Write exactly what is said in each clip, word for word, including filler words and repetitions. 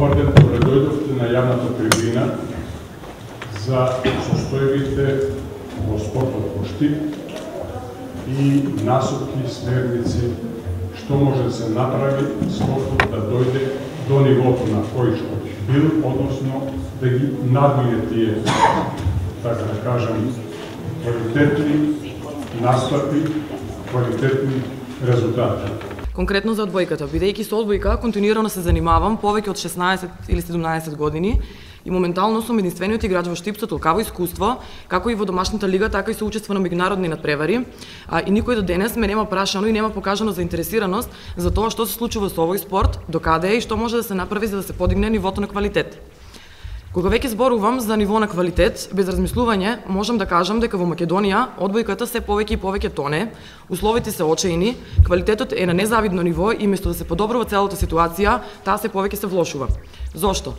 добар ден, добре дојдовте на јавната трибина за состојбите во спортот по штип и насоки, смерници, што може да се направи спортот да дојде до нивото на кој што бил, односно да ги надмине тие, така да кажем, квалитетни настапи, квалитетни резултати. Конкретно за одбојката, бидејќи со одбојка континуирано се занимавам повеќе од шеснаесет или седумнаесет години и моментално сум единствениот играч во штип со толкаво искуство, како и во домашната лига, така и со учество на меѓународни надпревари. А, и никој до денес ме нема прашано и нема покажано заинтересираност за тоа што се случува со овој спорт, докаде е и што може да се направи за да се подигне нивото на квалитет. Кога веќе зборувам за ниво на квалитет, без размислување, можам да кажам дека во Македонија одбојката се повеќе и повеќе тоне, условите се очаени, квалитетот е на незавидно ниво и место да се подобрува целата ситуација, таа се повеќе се влошува. Зошто?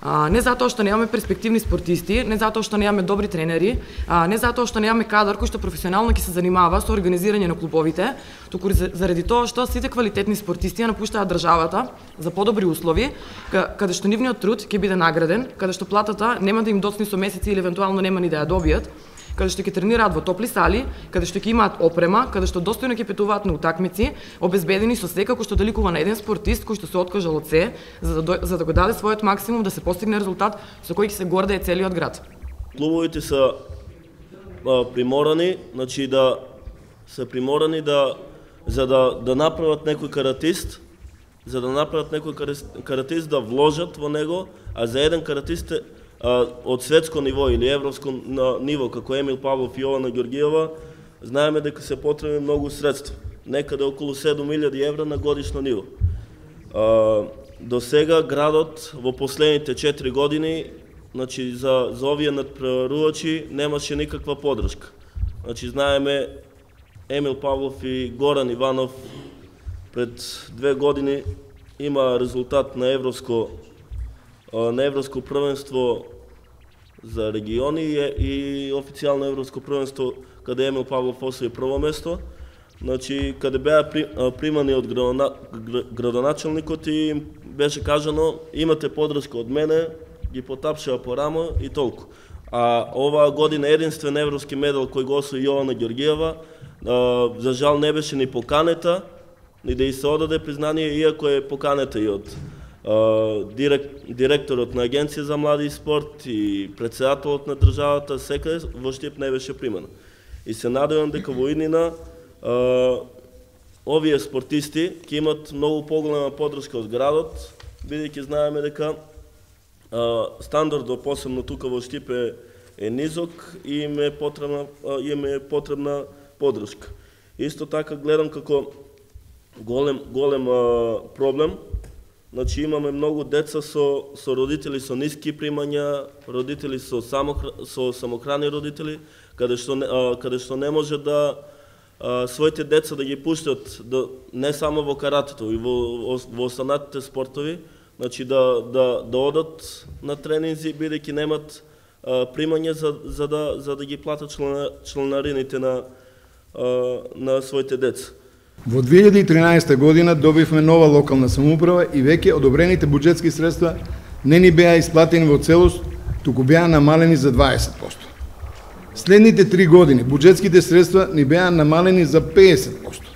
А, не затоа што немаме перспективни спортисти, не затоа што немаме добри тренери, а, не затоа што немаме кадар кој што професионално ќе се занимава со организирање на клубовите, туку заради тоа што сите квалитетни спортисти ја напуштаат државата за подобри услови, каде што нивниот труд ќе биде награден, каде што платата нема да им доцни со месеци или евентуално нема ни да ја добијат, каде што ќе тренираат во топли сали, каде што ќе имаат опрема, каде што достојно ќе петуваат на утакмици, обезбедени со се како што доликува на еден спортист кој што се откажал од се за да, за да го даде својот максимум да се постигне резултат со кој ќе се гордее целиот град. Клубовите се приморани, значи да се приморани да за да да направат некој каратист, за да направат некој каратист да вложат во него, а за еден каратист од светско ниво или европско ниво, како Емил Павлов и Јована Ѓоргиева, знаеме дека се потребни многу средства, некаде околу седум илјади евра на годишно ниво. До сега градот во последните четири години, значи за за овие надпреварувачи немаше никаква поддршка. Значи знаеме Емил Павлов и Горан Иванов пред две години има резултат на европско на европско првенство за региони и официјално европско првенство каде Емил Павлов освои прво место. Значи каде беа примани од градоначалникот и им беше кажано имате поддршка од мене, ги потапшаа по рамо и толку. А оваа година единствен европски медал кој го освои Јована Ѓоргиева, за жал не беше ни поканета, ни да и се одаде признание, иако е поканета и од директорот на Агенција за млади и спорт и претседателот на државата, секаде во штип не беше примана. И се надевам дека во иднина овие спортисти ќе имат многу поголема поддршка од градот, бидејќи знаеме дека стандардот посебно тука во штип е, е низок и им е потребна им е потребна поддршка. Исто така гледам како голем голем проблем. Значи имаме многу деца со со родители со ниски примања, родители со самохр... со самохрани родители, каде што а, каде што не може да а, своите деца да ги пуштат да не само во каратето и во во останатите спортови, значи да да да одат на тренинзи бидејќи немат а, примање за за да за да ги платат члена, членарините на а, на своите деца. Во две илјади и тринаесета година добивме нова локална самоуправа и веќе одобрените буџетски средства не ни беа исплатени во целост, туку беа намалени за дваесет проценти. Следните три години буџетските средства ни беа намалени за педесет проценти.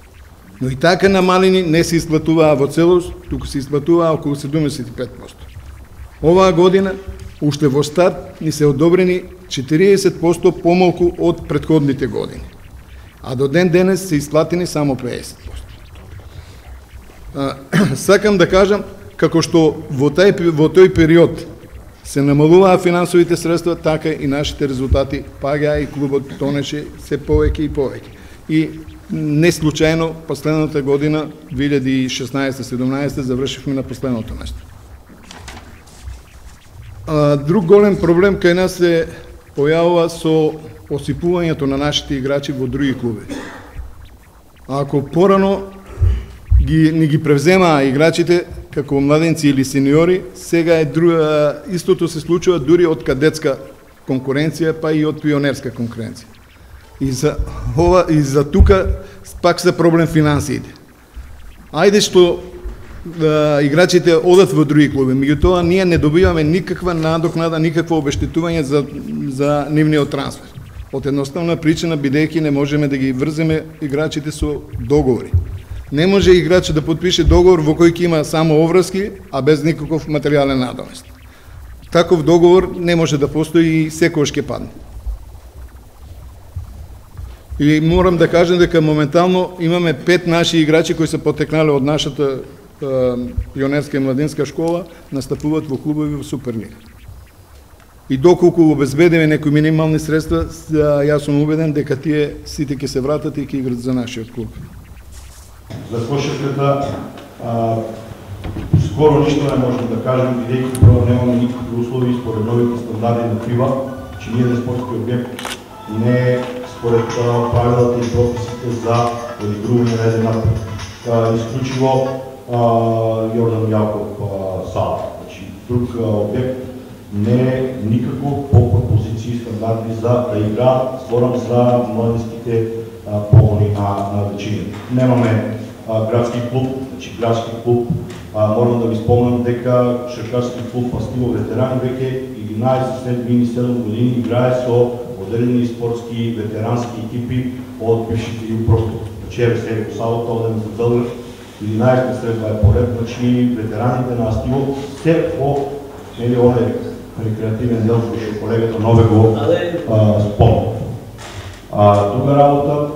Но и така намалени не се исплатуваа во целост, туку се исплатуваа околу седумдесет и пет проценти. Оваа година, уште во старт, ни се одобрени четириесет проценти помалку од претходните години, а до ден денес се исплатени само педесет проценти. Сакам да кажам како што во тај во тој период се намалуваа финансовите средства, така и нашите резултати паѓаа и клубот тонеше се повеќе и повеќе. И не случајно последната година две илјади и шеснаесета седумнаесета завршивме на последното место. Друг голем проблем кај нас се појавува со осипувањето на нашите играчи во други клуби. Ако порано ги, ни ги превземаа играчите како младенци или сениори, сега е друга, истото се случува дури од кадетска конкуренција, па и од пионерска конкуренција. И за ова и за тука пак се проблем финансиите. Ајде што играчите одат во други клуби. Меѓутоа, ние не добиваме никаква надокнада, никакво обештетување за, за нивниот трансфер. Од едноставна причина, бидејќи не можеме да ги врземе играчите со договори. Не може играч да подпише договор во кој ќе има само оврски, а без никаков материјален надомест. Таков договор не може да постои и секојаш ќе падне. И морам да кажам дека моментално имаме пет наши играчи кои се потекнале од нашата пионерска и младинска школа, настапуваат во клубови во Суперлига. И доколку обезбедиме некои минимални средства, јас сум убеден дека тие сите ќе се вратат и ќе играат за нашиот клуб. За кошарката скоро ништо не можем да кажем, бидејќи прво немаме никакви услови според новите стандарди на ФИБА, че ние на спортски објект не е според правилата и прописите за одигрување на еден напред. Исклучиво Јордан Јаков сала. Значи, друг објект не е никако по пропозиции и стандарди за да игра, зборам за младинските погони на, на вечините. Немаме а, градски клуб, значи градски клуб, а, морам да ви спомнам дека шаркарски клуб Пастиво ветерани веќе единаесет след седум години играе со одредени спортски ветерански екипи од бившите јупростори. Значи, еве сега по салата, одем за Белград, единаесет след това е поред, значи ветераните на Астиво се по нели оне рекреативен дел што колегата Нове го спомна. Друга работа,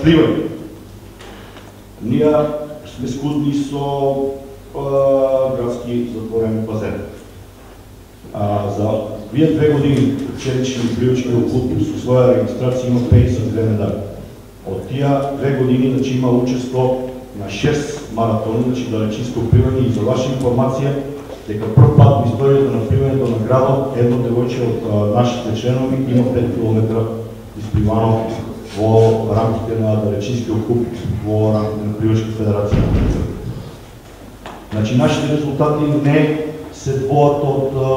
пливање. Ние сме скудни со градски затворен базен. За вие две години ученични пливачки клуб со своја регистрација има петдесет две медали. Од тие две години значи има учество на шест маратони, значи далечинско пливање, и за ваша информација дека прв пат во историјата на пливањето на градот едно девојче од нашите членови има пет километра испливано во рамките на далечинскиот клуб, во рамките на Пливачка федерација. Значи, нашите резултати не се двоат од а,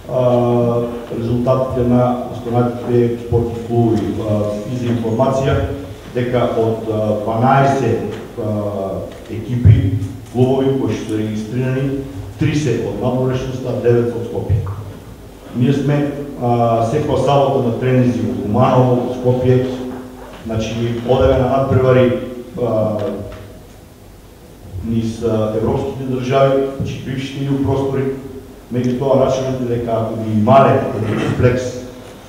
а, резултатите на останатите спортни клубови. И за информација дека од дванаесет а, екипи, клубови кои што се регистрирани, тридесет од надворешноста, девет од Скопје. Ние сме секоја сабота на тренинзи во Куманово, во Скопје, значи одеве на надпревари низ европските држави, значи бившите ју простори, меѓутоа рачунате дека ако ги имале комплекс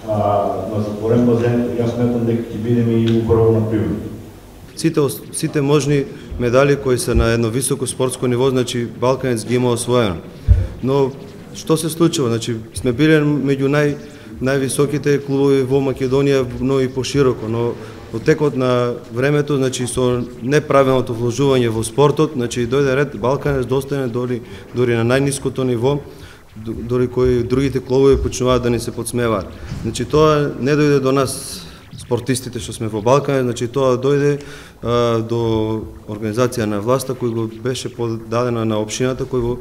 на затворен базен, јас сметам дека ќе бидеме и убаво на пливање. Сите, сите можни медали кои се на едно високо спортско ниво, значи Балканец ги има освоено. Но што се случува? Значи сме биле меѓу нај највисоките клубови во Македонија, но и пошироко, но во текот на времето, значи со неправилното вложување во спортот, значи дојде ред Балканец достане дори дори на најниското ниво, дори кои другите клубови почнуваат да ни се подсмеваат. Значи тоа не дојде до нас спортистите што сме во Балканец, значи тоа дојде а, до организација на власта кој го беше подадена на општината, кој во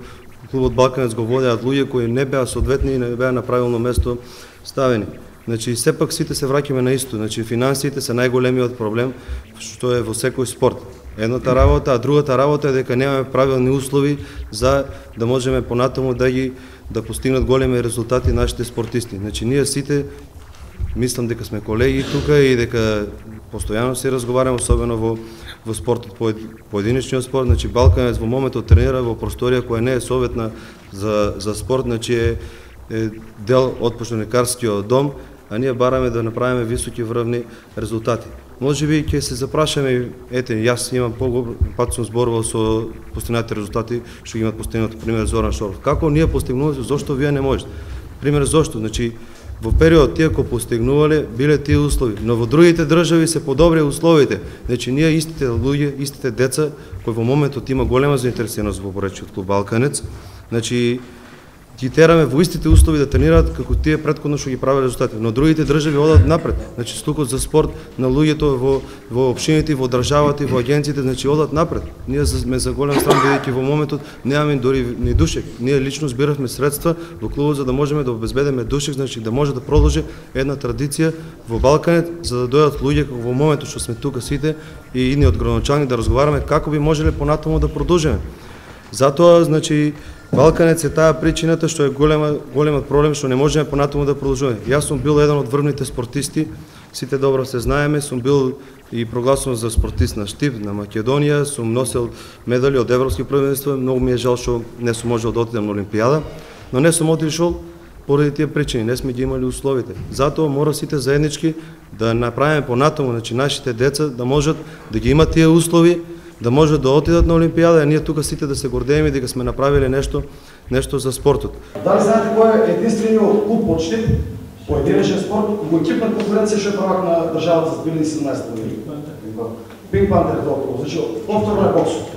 клубот Балканец го водеат луѓе кои не беа соодветни и не беа на правилно место ставени. Значи сепак сите се враќаме на исто, значи финансиите се најголемиот проблем што е во секој спорт. Едната работа, а другата работа е дека немаме правилни услови за да можеме понатаму да ги да постигнат големи резултати нашите спортисти. Значи ние сите мислам дека сме колеги тука и дека постојано се разговараме, особено во во спортот, поединечниот спорт. Значи Балканец во моментот тренира во просторија која не е советна за за спорт, значи е, е дел од поштеникарскиот дом, а ние бараме да направиме високи врвни резултати. Може би ќе се запрашаме, ете, јас имам поголем пат сум зборувал со постигнатите резултати што ги имат постигнато, пример Зоран Шоров. Како ние постигнуваме, зошто вие не можете? Пример зошто? Значи во период тие кои постигнувале биле тие услови, но во другите држави се подобри условите. Значи ние истите луѓе, истите деца кои во моментот има голема заинтересираност во поречиот клуб Балканец, значи ги тераме во истите услови да тренираат како тие претходно што ги правеле резултати. Но другите држави одат напред. Значи стукот за спорт на луѓето во во општините, во државата и во агенциите, значи одат напред. Ние сме за голем стран бидејќи во моментот немаме дури ни душек. Ние лично збиравме средства во клубот за да можеме да обезбедиме душек, значи да може да продолжи една традиција во Балканет, за да дојдат луѓе како во моментот што сме тука сите и идни од градоначалник да разговараме како би можеле понатаму да продолжиме. Затоа, значи, Балканец е таа причината што е голема, големот проблем што не можеме понатаму да продолжуваме. Јас сум бил еден од врвните спортисти, сите добро се знаеме, сум бил и прогласуван за спортист на Штип, на Македонија, сум носел медали од европски првенства, многу ми е жал што не сум можел да отидам на Олимпијада, но не сум отишол поради тие причини, не сме ги имали условите. Затоа мора сите заеднички да направиме понатаму, значи нашите деца да можат да ги имат тие услови, да можат да отидат на Олимпијада, а ние тука сите да се гордееме дека сме направиле нешто, нешто за спортот. Дали знаете кој е единствениот клуб од Штип, поединечен спорт, во екипна конкуренција што е правак на државата за две илјади и седумнаесета година? Пинг пантер толку, значи повторно е боксот.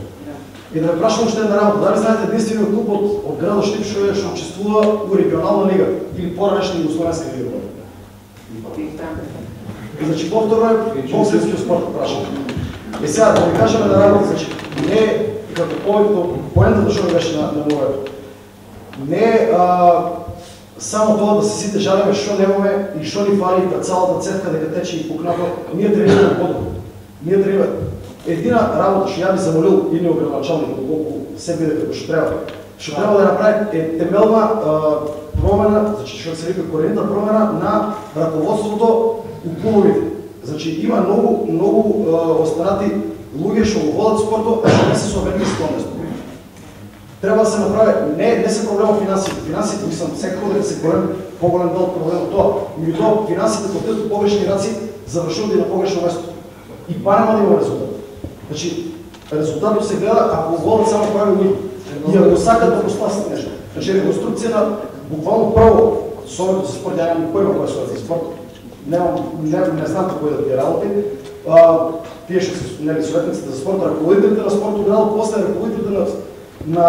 И да ме прашам уште една работа, дали знаете единствениот клуб од, од градот Штип што е што учествува во регионална лига или поранешна југословенска лига? Значи повторно е боксерскиот спорт, прашам. И сега да ви кажеме да работа, значи не како повеќе поентата што беше на на моето. Не а, само тоа да се сите жалиме што немаме и што ни фали да цялата цетка дека тече и пукнато, ние тренираме подобро. Ние тренираме. Едина работа што ја би замолил и градоначалник доколку се биде како што треба, што треба да направи е темелна а, промена, значи што се вика коренна промена на раководството у клубовите. Значи има многу многу останати луѓе што го водат спортот, а што не се соверени со тоа место. Треба да се направи, не не се проблемот финансите. Финансите мислам секако дека се голем поголем дел проблемот тоа. Меѓутоа финансите кога тие погрешни раци завршуваат и на погрешно место. И па нема да има резултат. Значи резултатот се гледа ако го водат само прави луѓе. И ако сакат да го спасат нешто. Значи реконструкција на буквално прво Советот за спорт, ја немам појма кој е Советот за спорт. Немам, не, не знам како да тие работи. А, тие што се нели советниците за спорт, раководителите на спортот градот, после раководителите на на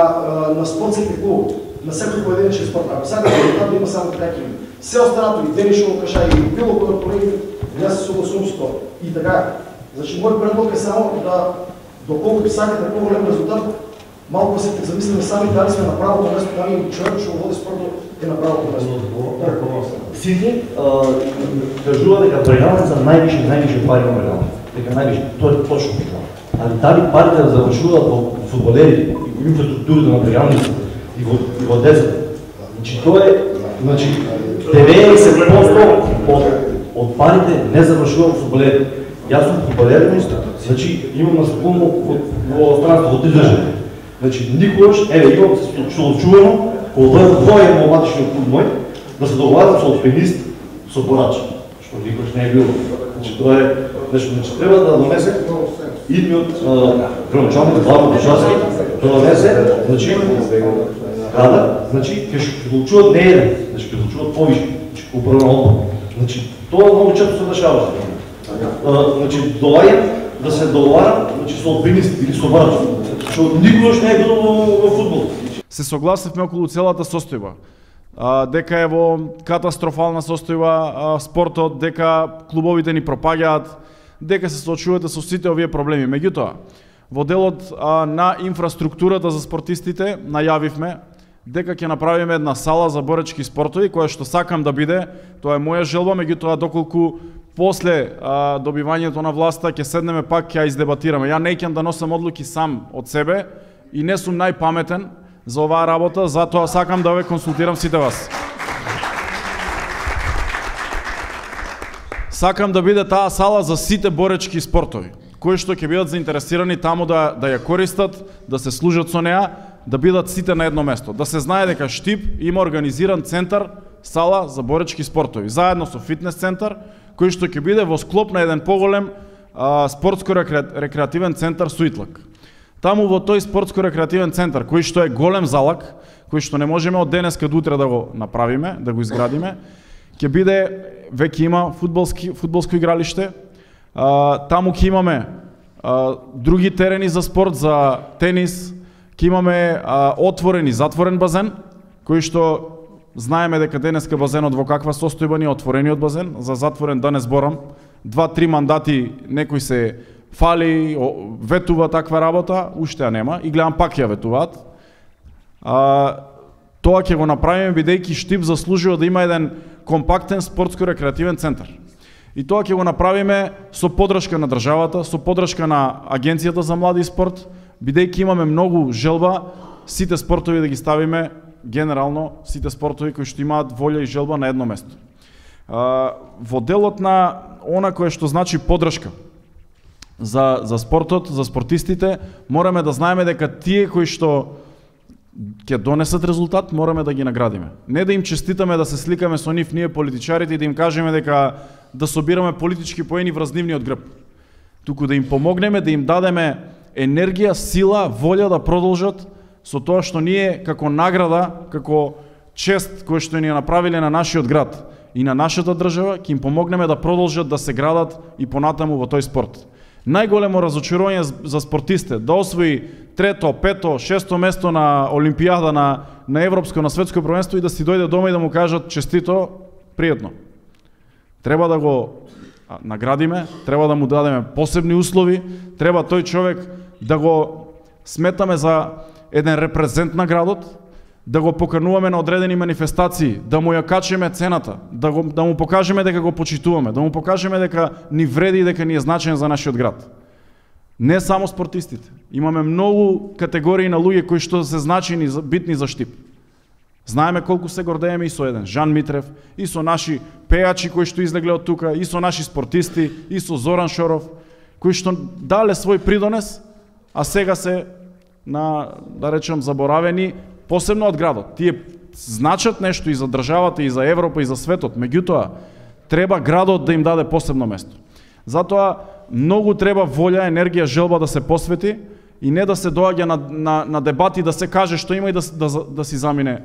на спортските клубови, на секој поединечен спорт. Ако сакате да има само така ќе има. Се останато и денишо кажа и било кој од колегите, јас се согласувам со тоа. И така, значи мој предлог е само да доколку сакате поголем резултат, малку се замислиме сами дали сме на правото место, дали човекот што води спортот е на правото место. Сите кажува дека Брегалница највише највише пари има Брегалница. Дека највише, тоа е точно така. Али дали парите да завршуваат во фудбалери, во инфраструктурата на Брегалница и во и во децата. Значи тоа е, значи деветдесет проценти од од парите не завршува во фудбалери. Јас сум фудбалер, значи имам настапувано во странство во три држави. Значи никогаш, еве имам се очувано кога дојдат двоje младишниот клуб мој да се договарат со алпинист, со борач, што никогаш не е било. Значи тоа е нешто, значи треба да донесе идниот градоначалник главно Бушарски, да донесе, значи кадар, значи ќе ќе одлучуваат не еден, значи ќе одлучуваат повише, значи управен одбор. Значи тоа многу често се дешава. Значи доаѓам да се договарам, значи со алпинист или со борач, што никогаш не е било во фудбал. Се согласивме околу целата состојба. Дека е во катастрофална состојба спортот, дека клубовите ни пропаѓаат, дека се соочувате со сите овие проблеми. Меѓутоа, во делот на инфраструктурата за спортистите најавивме дека ќе направиме една сала за боречки спортови, која што сакам да биде, тоа е моја желба, меѓутоа доколку после а, добивањето на власта ќе седнеме пак ќе ја издебатираме. Ја не ќе да носам одлуки сам од себе и не сум најпаметен за оваа работа, затоа сакам да ве консултирам сите вас. Сакам да биде таа сала за сите боречки спортови, кои што ќе бидат заинтересирани таму да, да ја користат, да се служат со неа, да бидат сите на едно место. Да се знае дека Штип има организиран центар, сала за боречки спортови, заедно со фитнес центар, кој што ќе биде во склоп на еден поголем спортско-рекреативен центар Суитлак. Таму во тој спортско-рекреативен центар, кој што е голем залак, кој што не можеме од денеска до утре да го направиме, да го изградиме, ќе биде, веќе има фудбалски, фудбалско игралиште, а, таму ќе имаме а, други терени за спорт, за тенис, ќе имаме а, отворен и затворен базен, кои што знаеме дека денеска базенот во каква состојба ни е, отворениот базен, за затворен да не зборам, два-три мандати некој се фали, ветува таква работа, уште ја нема и гледам пак ја ветуваат. А, тоа ќе го направиме бидејќи Штип заслужува да има еден компактен спортско-рекреативен центар. И тоа ќе го направиме со поддршка на државата, со поддршка на Агенцијата за млади и спорт, бидејќи имаме многу желба сите спортови да ги ставиме, генерално сите спортови кои што имаат волја и желба на едно место. А, во делот на она кое што значи поддршка за, за спортот, за спортистите, мораме да знаеме дека тие кои што ќе донесат резултат, мораме да ги наградиме. Не да им честитаме да се сликаме со нив ние политичарите и да им кажеме дека да собираме политички поени врз нивниот грб. Туку да им помогнеме, да им дадеме енергија, сила, волја да продолжат со тоа што ние како награда, како чест кој што ни ја направиле на нашиот град и на нашата држава, ќе им помогнеме да продолжат да се градат и понатаму во тој спорт. Најголемо разочарување за спортисте да освои трето, пето, шесто место на Олимпијада, на, на Европско, на Светско првенство и да си дојде дома и да му кажат честито, пријатно. Треба да го наградиме, треба да му дадеме посебни услови, треба тој човек да го сметаме за еден репрезент на градот, да го покануваме на одредени манифестации, да му ја качиме цената, да, го, да му покажеме дека го почитуваме, да му покажеме дека ни вреди и дека ни е значен за нашиот град. Не само спортистите. Имаме многу категории на луѓе кои што се значени, битни за Штип. Знаеме колку се гордееме и со еден Жан Митрев, и со наши пејачи кои што излегле од тука, и со наши спортисти, и со Зоран Шоров, кои што дале свој придонес, а сега се на, да речем, заборавени, посебно од градот. Тие значат нешто и за државата, и за Европа, и за светот. Меѓутоа, треба градот да им даде посебно место. Затоа, многу треба волја, енергија, желба да се посвети и не да се доаѓа на, на, на дебати, да се каже што има и да, да, да си замине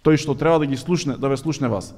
тој што треба да ги слушне, да ве слушне вас.